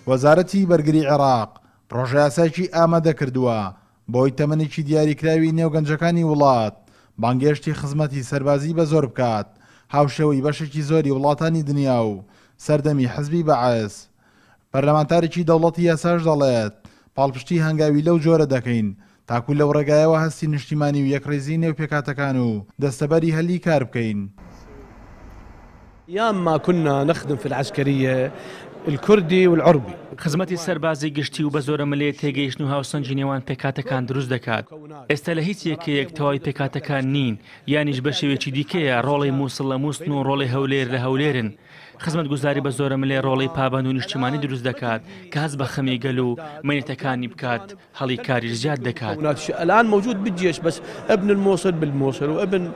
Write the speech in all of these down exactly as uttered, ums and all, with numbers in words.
وەزارەتی بەرگری عێراق پڕۆژەیاسایەکی ئامادە کردووە بۆی تەمەنێکی دیاریکراوی نێو گەنجەکانی وڵات بانگێشتی خزمەتی سەربازی بە زۆر بکات، هاوشێوەی بەشێکی زۆری وڵاتانی دنیا و سەردەمی حزبی بەعس. پەرلەمانتارێکی دەوڵەتی یاساش دەڵێت پاڵپشتی هەنگاوی لەو جۆرە دەکەین تاکو لەو ڕێگایەوە هەستی نیشتیمانی و یەکڕیزی نێو پێکهاتەکان و دەستەبەری هەلی کار بکەین. أيام ما كنا نخدم في العسكرية الكردي والعربي. خزمەتی سەربازی گشتی و بە زۆرەملێ تێگەیشتن و هاوسەنگی نێوان پێکهاتەکان دروست دەکات. ئێستا لە هیچ یەکەیەک تەواوی پێکهاتەکان نین، یانیش بە شێوەیەکی دیکەیە ڕۆڵی مووسڵ لە مووسڵن و ڕۆڵی هەولێر لە هەولێرن. خزمەتگوزاری بە زۆرەملێ ڕۆڵی پابەند و نیشتیمانی دروست دەکات کە هەست بە خەمی گەل و مەینەتەکانی بکات، هەڵی کاریش زیاد دەکات. الآن موجود بالجيش بس ابن الموصل بالموصل وابن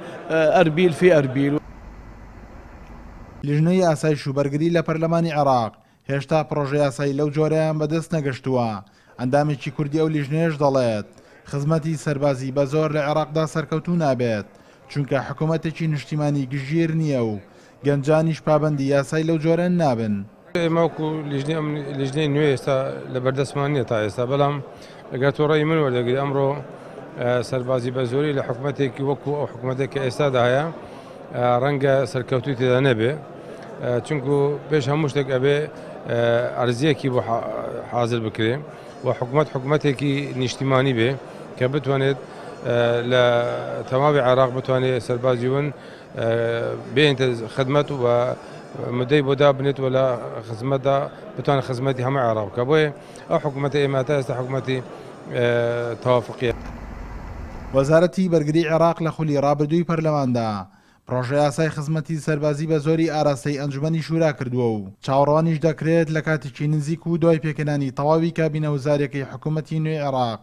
أربيل في أربيل. لیژنەی ئاسایش و بەرگری لە پەرلەمانی عێراق هێشتا پڕۆژەیاسایی لەو جۆرەیان بەدەست نەگەشتووە. ئەندامێکی کوردی ئەو لیژنەیەش دەڵێت خزمەتی سەربازی بە زۆر لە عێراقدا سەرکەوتوو نابێت، چونکە حکوومەتێکی نیشتیمانی گشتگیر نییە و گەنجانیش پابەندی یاسای لەو جۆرە نابن. ئێمە وەکو لیژنەی نوێ ئێستا لە بەردەستمان نییە تا ئێستا، بەڵام ئەگەر تۆ ڕێی من وەردەگری ئەمڕۆ سەربازی بە زۆری لە حکوومەتێکی وەکو ئەو حکوومەتێک کە ئێستادا هەیە ڕەنگە سەرکەوتووی تێدا نەبێ، چونکو پێش هەموو شتێک ئەبێ ئەرزیەکی بۆ حاضر بکرێ و حکوومەت حکوومەتێکی نیشتیمانی بێ کە بتوانێت لە تەواوی عێراق بتوانێت سەربازی ون بێنێتە خدمەت و مدەی بۆ دابنێت و لە خزمەتدا بتوانێت خزمەتی هەموو عێراق بکە. بۆیە ئەو حکوومەتە ئێمە تا ئێستا حکوومەتی تەوافقیە. وەزارەتی بەرگری عێراق لە خولی ڕابردووی پەرلەماندا پڕۆژەیاسای خزمەتی سەربازی بە زۆری ئاراستەی ئەنجومەنی شورا کردووە و چاوەڕوانیش دەکرێت لە کاتێکی نزیک و دوای پێکهێنانی تەواوی کابینە وزارێکی حکوومەتی نوێی عێراق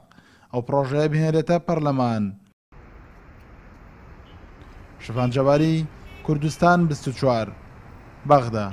ئەو پڕۆژەیە بهێنرێتە پەرلەمان. شفان جەباری، کوردستان بیست و چوار، بەغدا.